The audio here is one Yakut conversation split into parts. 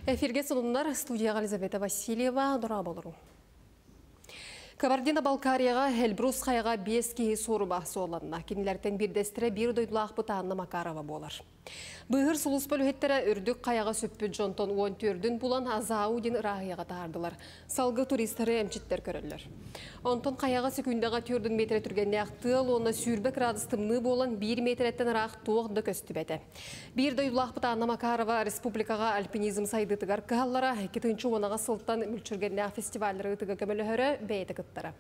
Эфиргэ сонуннар, студияҕа Елизавета Васильева, дорооболоруҥ. Кабардино-Балкарияҕа Эльбрус хайаҕа биэс киһи суорума суолланна. Кинилэртэн биирдэстэрэ биир дойдулаахпыт Анна Макарова буолар. Быыһыыр сулууспа үлэһиттэрэ үрдүк хайаҕа сүппүт дьонтон 14-үн булан Азау диэн ырааһыйаҕа таһаардылар. Салгыы туристары эмчиттэр көрөллөр. Онтон хайаҕа секундаҕа 4 метрэ түргэннээх тыал уонна 20 градус тымныы буолан 1 метрэттэн ыраах туох да көстүбэтэ. Биир дойдулаахпыт Анна Макарова республикаҕа альпинизм сайдыытыгар кыһаллара, 2010 сылтан мүлчүргэннээх фестиваллары ыытыыга көмөлөһөрө, бэйэтэ кыттара.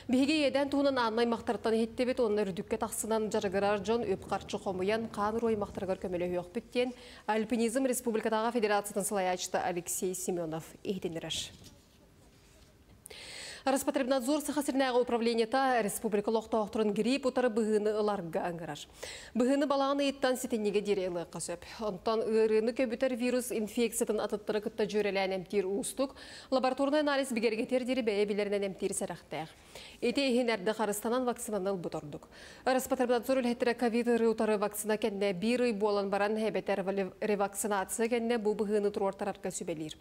Биһиги иэдээн туһунан Анна аймахтарыттан иһиттибит уонна үрдүккэ тахсынан дьарыгырар дьон үп-харчы хомуйан хаан уруу аймахтарыгар көмөлөһүөхпүт диэн Альпинизм республикатааҕы федерациятын салайааччыта Алексей Семенов иһитиннэрэр. Роспотребнадзор Саха сиринээҕи управлениета республика олохтоохторун грипп утары быһыыны ыларга ыҥырар. Быһыыны балаҕан ыйыттан сэтинньигэ диэри ылыахха сөп. Онтон ыарыыны көбүтэр вирус инфекциятын атыттары кытта дьүөрэлээн эмтиир уустук, лабораторнай анализ бигэргэтиэр диэри бэйэ билэринэн эмтиир сэрэхтээх. Ити иһин эрдэ харыстанан вакцинаны ылбыт ордук. Роспотребнадзор үлэһиттэрэ ковид ыарыы утары вакцина кэннэ биир ый буолан баран эбэтэр ревакцинация кэннэ бу быһыыны туруортарарга сүбэлиир.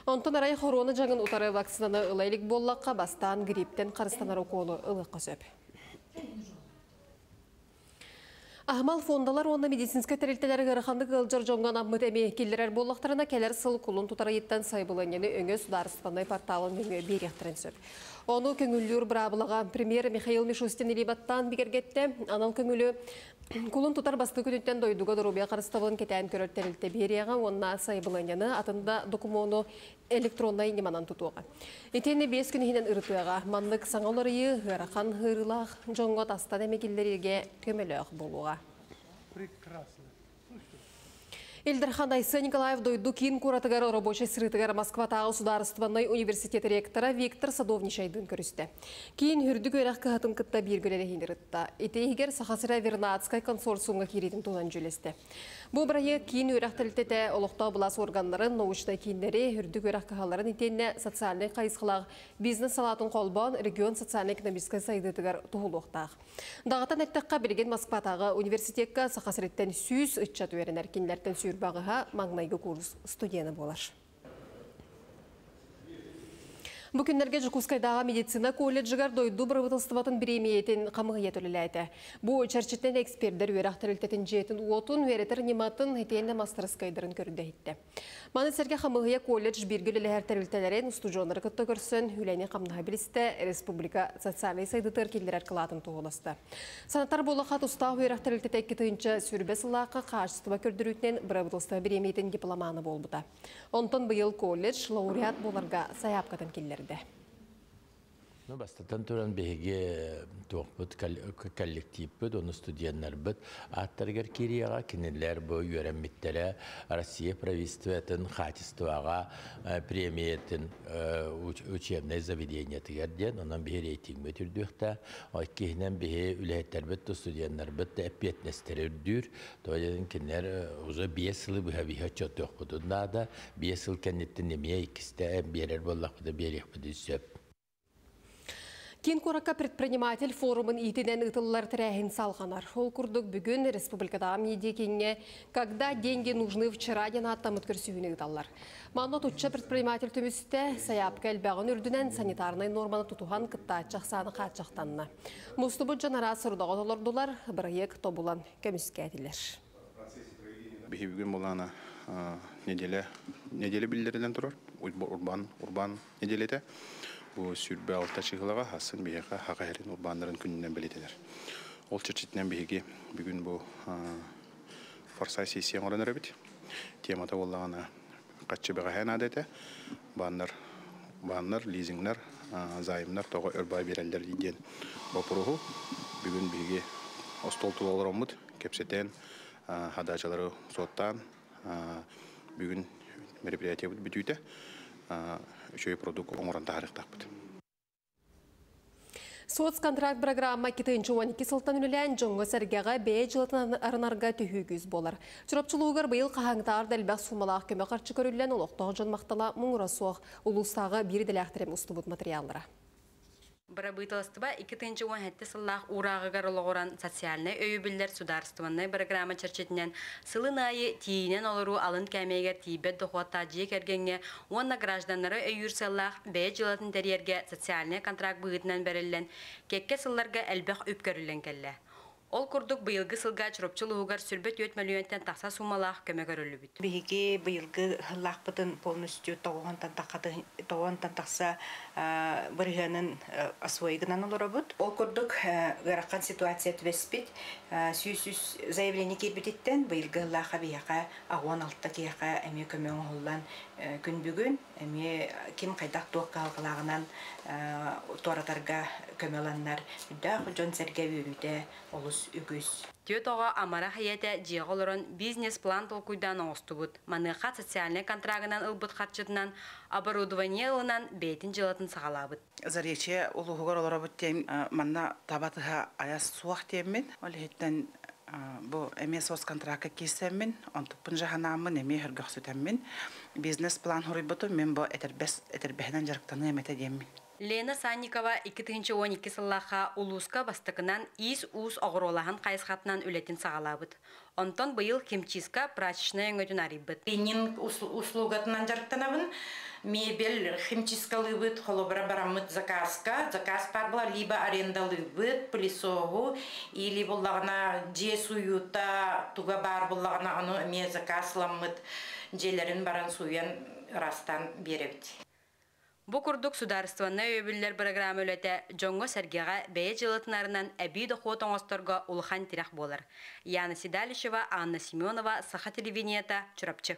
Онтон арай хоруона дьаҥын утары вакцинаны ыла илик буоллахха, бастаан грипптэн харыстанар укуолу ылыахха сөп. Аһымал фондалар уонна медицинскэй тэрилтэлэр ыараханнык ыалдьар дьоҥҥо анаммыт эми киллэрэр буоллахтарына, кэлэр сыл кулун тутар ыйыттан сайабылыанньаны өҥө судаарыстыбаннай порталын нөҥүө биэриэхтэрин сөп. Ону көҥүллүүр быраабылаҕа премьер Михаил Мишустин илии баттаан бигэргэттэ. Анал көҥүлү кулун тутар бастакы күнүттэн дойдуга доруобуйа харыстабылын кэтээн көрөр тэрилтэ биэриэҕэ уонна сайабылыанньаны атын да докумуону электроннай ньыманан тутуоҕа. Итиэннэ 5 күн иһинэн ырытыаҕа. Маннык саҥа уларыйыы ыарахан ыарыылаах дьоҥҥо тастан эми киллэриигэ көмөлөөх буолуоҕа. Ил Дархан Айсен Николаев дойду киин куоратыгар рабочай сырыытыгар Москватааҕы судаарыстыбаннай университет ректора Виктор Садовничайдыын көрүстэ. Киин үрдүк үөрэх кыһатын кытта бииргэ үлэлэһиини ырытта. Ити иһигэр Саха сирэ Вернадскай консорциумҥа киириитин туһунан дьүүллэстэ. Бу бырайыак киин үөрэх тэрилтэтэ олохтоох былаас органнарын, научнай кииннэри, үрдүк үөрэх кыһаларын итиэннэ социальнай хайысхалаах бизнес салаатын холбоон регион социальнай-экономическай сайдыытыгар туһулуохтаах. Даҕатан эттэххэ, билигин Москватааҕы университекка Саха сириттэн 100 ыччат үөрэнэр, кинилэртэн 28-а маҥнайгы курс студена буолар. Бу күннэргэ Дьокуускайдааҕы медицина колледжыгар дойду бырабыыталыстыбатын бириэмийэтин хамыыһыйата үлэлээтэ. Бу чэрчитинэн экспердэр үөрэх тэрилтэтин дьиэтин уотун, үөрэтэр ньыматын итиэннэ мастарыскыайдарын көрдө-иһиттэ. Маны сэргэ хамыыһыйа колледж бииргэ үлэлэһэр тэрилтэлэрин, устудьуоннары кытта көрсөн, үлэни-хамнаһы билистэ, республика социальнай сайдыытыгар киллэрэр кылаатын туһуласта. Санатар буоллахха, тустаах үөрэх тэрилтэтэ 2020 сыллаахха хаачыстыба көрдөрүүтүнэн бырабыыталыстыба бириэмийэтин дипломана буолбута. Онтон быйыл колледж лауреат буоларга сайаапкатын киллэрдэ. Ну, бастатан туран биһиги туохпут коллективпыт, ону студеннарбыт ааттарыгар киириэҕэ, кинилэр бу үөрэммиттэрэ Россия правительствотын качествоҕа премиятын учебнай заведениетыгар диэн, онон биһи рейтингбит үрдүөхтэ. Иккиһинэн биһи үлэһиттэрбит да студеннарбыт да эппиэтинэстэрэ үрдүүр. Тоҕо диэн кинилэр уже 5 сылы быһа биһи отчуоттуохпутун наада. 5 сыл кэнниттэн эмиэ иккистэ биэрэр буоллахпыта биэриэхпитин сөп. Киин куоракка предприниматель форумун иитинэн ыытыллар тэрээһин салҕанар. Ол курдук бүгүн республикатааҕы медиакииҥҥэ «Когда деньги нужны вчера» диэн ааттаммыт көрсүһүүнү ыыталлар. Манна отучча предприниматель түмүстэ, сайаапка элбэҕин үрдүнэн санитарнай нуорманы тутуһан кыттааччы ахсаана хааччахтанна. Мустубут дьон араас сорудаҕы толордулар, бырайыак тобулан көмүскээтилэр. Биһи бүгүн булаана неделя биллэрилэн турар. Урбаан неделята. Бу 26 чыһылаҕа хасын биһиэхэ Саха сирин урбааннарын күнүнэн бэлиэтэнэр. Ол чэрчитинэн биһиги бүгүн бу форсайт сессия оҥорон эрэбит. Темата буоллаҕына харчы бэҕэһээ наада этэ. Бааннар, лизингнар, займнар тоҕо өр баҕайы биэрэллэр диэн боппуруоһу бүгүн биһиги остуол тула олороммут кэпсэтэн, задачалары суоттаан, бүгүн мероприятиебыт бүтүүтэ үчүгэй продукт оҥорон таһаарыахтаахпыт. Соцконтракт программа 2012 сылтан үлэлээн дьоҥҥо-сэргэҕэ бэйэ дьыалатын арынарга төһүү күүс буолар. Чурапчы улууһугар быйыл хаһааҥҥытааҕар да элбэх суумалаах көмө харчы көрүллэн олохтоох дьон махтала муҥура суох, улуустааҕы биир идэлээхтэрим устубут материаллара. Бырабыыталыстыба 2017 сыллаах уурааҕыгар олоҕуран социальнай өйөбүллэр судаарыстыбаннай бырагыраама чэрчитинэн сылын аайы тиийинэн олоруу алын кээмэйигэр тиийбэт дохуоттаах дьиэ кэргэҥҥэ уонна гражданнары өйүүр сыаллаах бэйэ дьыалатын тэрийэргэ социальнай контракт быһыытынан бэриллэн, кэккэ сылларга элбэх үп көрүллэн кэллэ. Ол курдук, быйылгы сылга Чурапчы улууһугар 24 мөлүйүөнтэн тахса суумалаах көмө көрүллүбүт. Биһиги быйылгы сыллаахпытын полностью тоҕуонтан тахса бырыһыанын освоигынан олоробут. Ол курдук ыарахан ситуация түбэспит 103 заявление киирбититтэн быйылгы сыллаахха биһиэхэ 86 киһиэхэ эмиэ көмө оҥоһуллан күн бүгүн эмиэ ким хайдах туох кыһалҕалааҕынан туоратарга көмө ыланнар үрдээх дьон-сэргэ үөрүүтэ олус үгүс. Түөрт оҕо амарах ийэтэ дьиэҕэ олорон бизнес-план толкуйдаан оҥостубут. Маныаха социальнай контрагынан ылбыт харчытынан оборудование ылынан бэйэтин дьыалатын саҕалаабыт. Заречье улууһугар олоробут диэн манна таба тыһа айас суох диэммин. Ол иһиттэн бу эмиэ соцконтракка киирсэммин, онтуппун дьаһанааммын эмиэ сөргөхсүтэммин бизнес-план хоруйбутум мин бу этэрбэс этэрбэһинэн дьарыктаныам этэ диэммин. Лена Санникова 2012 сыллаахха улууска бастакынан иис-уус оҕуруолаһын хайысхатынан үлэтин саҕалаабыт. Онтон быйыл химчистка прачечнай өҥөтүн арыйбыт. Клининг услугатынан дьарыктанабын. Мебель химчисткалыыбыт, холобура бараммыт заказка, заказ баар буолар, либо арендалыыбыт пылесоһу, или буллаҕына дьиэ сууйуута туга баар буоллаҕына ону эмиэ заказ ыламмыт дьиэлэрин баран сууйан ыраастаан биэрэбит. Бу курдук судаарыстыбаннай өйөбүллэр бырагыраама үлэтэ дьоҥҥо-сэргэҕэ бэйэ дьыалатынарынан эбии дохуот оҥосторго улахан тирэх буолар. Яна Седалищева, Анна Семенова, Саха телевидениета, Чурапчы.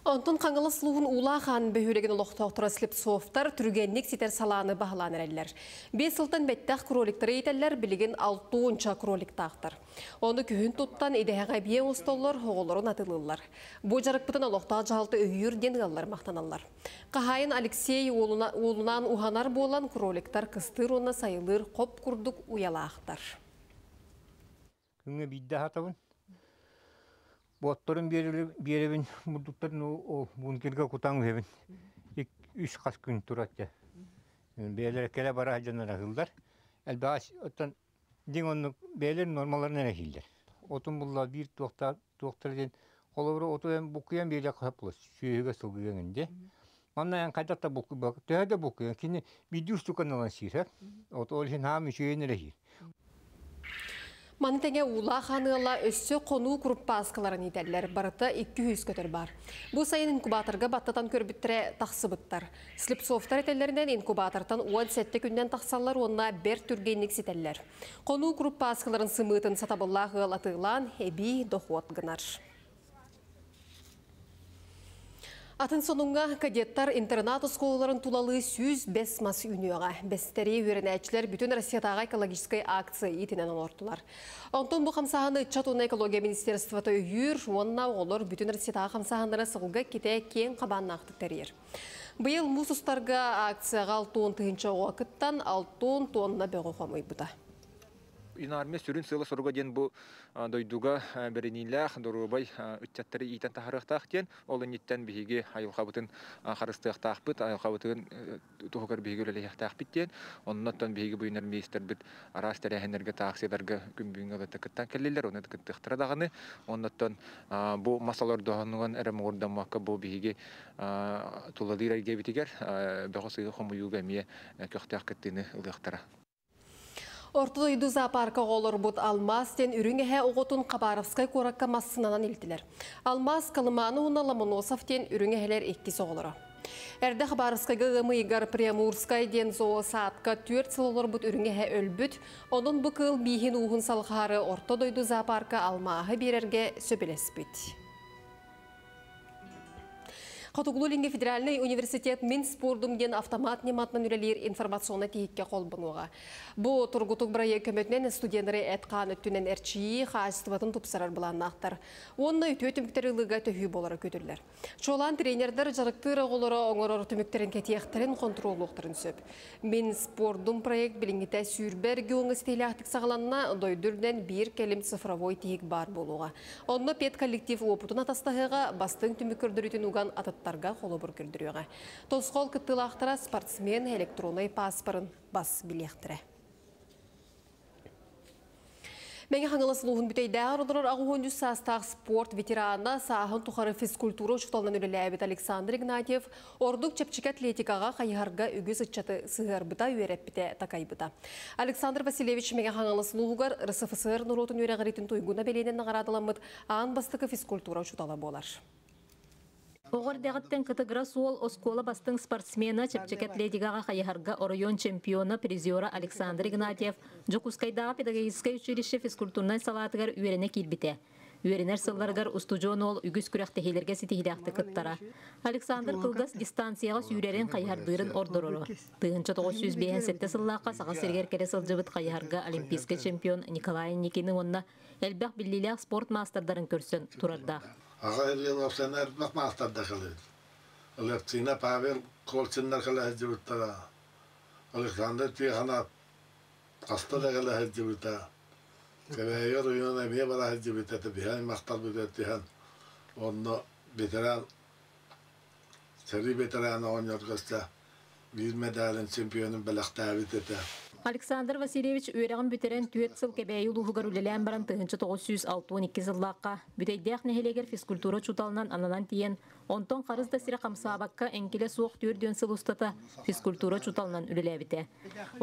Онтон Хаҥалас улууһун Уулаах Аан бөһүөлэгин олохтоохторо Слепцовтар түргэнник ситэр салааны баһылаан эрэллэр. 5 сылтан бэттэх кроликтары иитэллэр, билигин 60 кроликтаахтар. Ону күһүн туттан идэһэҕэ эбиэ оҥостоллор, оҕолорун атыылыыллар. Бу дьарыкпытын олохтоох дьаһалта өйүүр диэн ыаллар махтаналлар. Хаһаайын Алексей уолунаан уһанар буолан, кроликтар кыстыыр уонна сайылыыр хоп курдук уйалаахтар. Күҥҥэ биирдэ аһатабын. Буотторун биэрэбин, бурдуктарын ол бункерга кутан үһэбин. Үс хас күн турар дьэ. Бэйэлэрэ кэлэ бара сылдьан аһыыллар. Элбэҕи оттон дьиҥ оннук бэйэлэрин нормаларын эрэ иһиллэр. Отун булла биир туохтаах туохтара диэн холобура оту эн буккуйан биэриэххэ сөп буолар сүөһүгэ сылгыга эҥин дии. Манна эн хайдах да буккуйбакка төһө да буккуйан кини биирдии устуканы ылан сиир От ол иһин хаам үчүгэйин эрэ иһиир. Маны тэҥэ Уулаах Аныала өссө хонуу куруппааскаларын иитэллэр. Барыта 200 көтөр баар. Бу сайын инкубаторга баттатан көрбүттэрэ тахсыбыттар. Слепцовтар этэллэринэн инкубатортан 17 күннэн тахсаллар уонна бэрт түргэнник ситэллэр. Хонуу куруппааскаларын сымыытын сатабыллаах ыал атыылаан эбии дохуот гынар. Атын сонуҥҥа кадеттар интернат оскуолаларын тулалыы 105 мас үүнүөҕэ. Бэстэри үөрэнээччилэр бүтүн Россиятааҕы экологическай акция иитинэн оҥортулар. Онтон бу хамсааһыны ыччат уонна экология министерствота өйүүр уонна оҕолор бүтүн Россиятааҕы хамсааһыннара сылга китэ киэҥ хабааннаахтык тэрийэр. Быйыл муус устарга акцияҕа 60 тыһыынча оҕо кыттан 60 тонна бөҕү хомуйбута. Юнармия сүрүн сыала-соруга диэн бу дойдуга бэриниилээх, доруобай ыччаттары иитэн таһаарыахтаах диэн. Ол инниттэн биһиги айылҕабытын харыстыахтаахпыт, айылҕабытын туһугар биһиги үлэлэһиэхтээхпит диэн. Оннуттан биһиги бу юнармейстарбыт араас тэрээһиннэргэ, акцияларга күн бүгүҥҥэ ылыта кыттан кэллилэр, оны кыттыахтара даҕаны. Оннуттан бу мас олордоһунуган эрэ муҥурдаммакка бу биһиги тулалыыр эйгэбитигэр бөҕө сыыһы хомуйууга эмиэ көхтөөх кыттыыны ылыахтара. Орто дойду зоопаркаҕа олорбут Алмаас диэн үрүҥ эһэ оҕотун Хабаровскай куоракка массыынанан илтилэр. Алмаас Колыманы уонна Ломоносов диэн үрүҥ эһэлэр иккис оҕолоро. Эрдэ Хабаровскайга ыам ыйыгар Приамурскай диэн зоосаадка 4 сыл олорбут үрүҥ эһэ өлбүт. Онон бу кыыл бииһин ууһун салҕаары Орто дойду зоопарка алмааһы биэрэргэ сөбүлэспит. Хотугулуу-Илиҥҥи федеральнай университет Мин спордум диэн автомат ньыматынан үлэлиир информационнай тиһиккэ холбонуоҕа. Бу тургутук бырайыак көмөтүнэн студеннары эт-хаан өттүнэн эрчийии хаачыстыбатын тупсарар былааннаахтар. Уонна үтүө түмүктэри ылыыга төһүү буолара күүтүллэр. Чуолаан тренердэр дьарыктыыр оҕолоро оҥорор түмүктэрин кэтиэхтэрин, хонтуруоллуохтарын сөп. Мин спордум проект билиҥҥитэ сүүрбэ региоҥҥа ситиһиилээхтик саҕаланна, дойду үрдүнэн биир кэлим цифровой тиһик баар буолуоҕа. Онно педколлектив уопутун атастаһыаҕа, бастыҥ түмүк көрдөрүүтүн уган атыттар атыттарга холобур көрдөрүөҕэ. Тосхол кыттыылаахтара спортсмен электроннай пааспарын бас билиэхтэрэ. Мэҥэ Хаҥалас улууһун Бүтэйдээҕэр олорор 83 саастаах спорт ветерана, сааһын тухары физкультура учууталынан үлэлээбит Александр Игнатьев ордук чэпчэки атлетикаҕа, хайыһарга үгүс ыччаты сыһыарбыта, үөрэппитэ, такайбыта. Александр Васильевич Мэҥэ Хаҥалас улууһугар РСФСР норуотун үөрэҕириитин туйгуна бэлиэнэн наҕараадаламмыт аан бастакы физкультура учуутала буолар. Оҕо эрдэҕиттэн кытыгырас уол оскуола бастыҥ спортсмена, чэпчэки атлетикаҕа хайыһарга оройуон чемпиона, призера Александр Игнатьев Дьокуускайдааҕы педагогическай училище физкультурнай салаатыгар үөрэнэ киирбитэ. Үөрэнэр сылларыгар устудьуон уол үгүс күрэхтэһиилэргэ ситиһиилээхтик кыттара. Александр кылгас дистанцияҕа сүүрэрин, хайыһардыырын ордороро. 1957 сыллаахха Саха сиригэр кэлэ сылдьыбыт хайыһарга олимпийскай чемпион Николай Никины уонна элбэх биллиилээх спорт маастардарын көрсөн турардаах. Аҕа Ильин элбэх маастарда кэлин. Алевтина Павел Колчиннар кэлэ сылдьыбыттара. Александр Тихонов хаста да кэлэ сылдьыбыта. Кэбээйи оройуона эмиэ бара сылдьыбыта. Биһи аймахтарбыт түһэн онно ветеран сэрии ветерана оҕонньорго биир медалын чемпионун бэлэхтээбит этэ. Александр Васильевич үөрэҕин бүтэрэн түөрт сыл Кэбээйи улууһугар үлэлээн баран 1962 сыллаахха Бүтэйдээх нэһилиэгэр физкультура учууталынан ананан тиийэн, онтон харыс да сирэ хамсаабакка эҥкилэ суох түөрт сыл устата физкультура учууталынан үлэлээбитэ.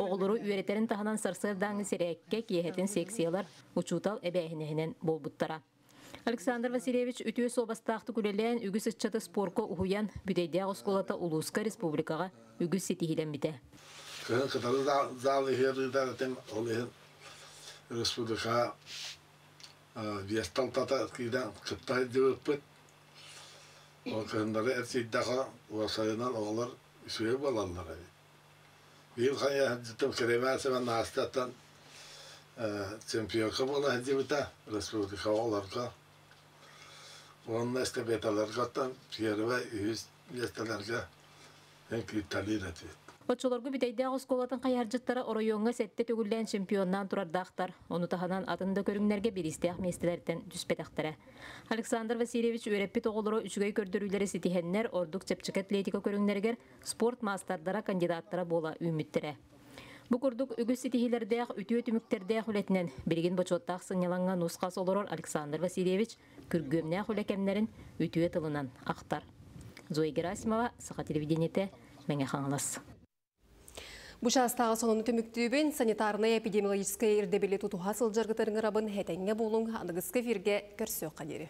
Оҕолору үөрэтэрин таһынан сарсыардааҥҥы сэрээккэ, киэһэтин секциялар учуутал эбээһинэһинэн буолбуттара. Александр Васильевич үтүө суобастаахтык үлэлээн, үгүс ыччаты спорка уһуйан, Бүтэйдээх оскуолата улууска, республикаҕа үгүс ситиһиилэммитэ. Кыһын кытары зал иһэр ыытар этим, ол иһин республикаҕа биэс талтата киирэн кытта сылдьыбыппыт. Ол кыһыннары эрчийдэххэ, уопсайынан оҕолор үчүгэй буолаллар эбит. Биир хайа сылдьытым Кремяцева Настяттан чемпионка буола сылдьыбыта республика оҕолорго. Уонна эстафеталарга первый, үһүс миэстэлэргэ кииртэлиир этибит. Оччолорго Бүтэйдээх оскуолатын хайыһардьыттара оройуоҥҥа сэттэ төгүллээн чемпионнаан турардаахтар. Ону таһынан атын да көрүҥнэргэ бириистээх миэстэлэртэн түспэтэхтэрэ. Александр Васильевич үөрэппит оҕолоро үчүгэй көрдөрүүлэри ситиһэннэр, ордук чэпчэки атлетика көрүҥнэригэр спорт маастардара, кандидаттара буола үүммүттэрэ. Бу курдук үгүс ситиһиилэрдээх, үтүө түмүктэрдээх үлэтинэн билигин бочуоттаах сынньалаҥҥа нус-хас олорор Александр Васильевич күргүөмнээх үлэ кэмнэрин үтүө тылынан ахтар. Зоя Герасимова, Саха телевидениетэ, Мэҥэ Хаҥалас. Бу чаастааҕы сонуну түмүктүүбүн санитарнай эпидемиологическай ирдэбили тутуһа сылдьаргытыгар ыҥырабын этэҥҥэ буолуҥ аныгыскы эфиргэ көрсүөххэ диэри.